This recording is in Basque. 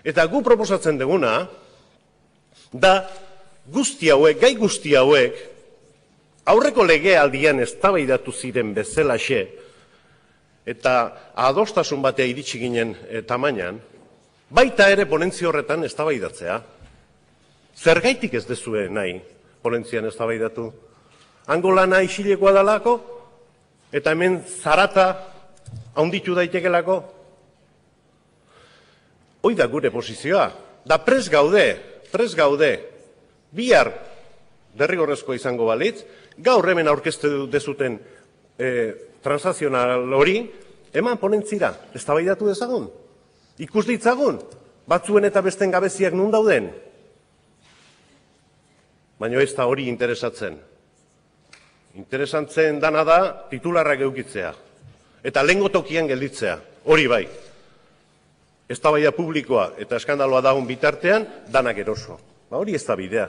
Eta gu proposatzen duguna da guzti hauek, gai guzti hauek, aurreko legealdian eztabaidatu ziren bezalaxe, eta adostasun batea iritsi ginen tamainan, baita ere ponentzia horretan eztabaidatzea. Zergaitik ez dezue nahi ponentzian eztabaidatu? Hango lana isilekoa dalako, eta hemen zarata handitu daitekelako? Hoi da gure posizioa, da prest gaude, bihar derrigorrezkoa izango balitz, gaur hemen aurkeztu dezuten transazional hori, eman ponentzira, eztabaidatu dezagun, ikus ditzagun, batzuen eta besten gabeziak nun dauden. Baina ez da hori interesatzen. Interesantzen dana da titularrak eukitzea, eta lehengo tokian gelditzea, hori bai. Eztabaida publikoa eta eskandaloa dagoen bitartean, danak eroso. Hori ez da bidea.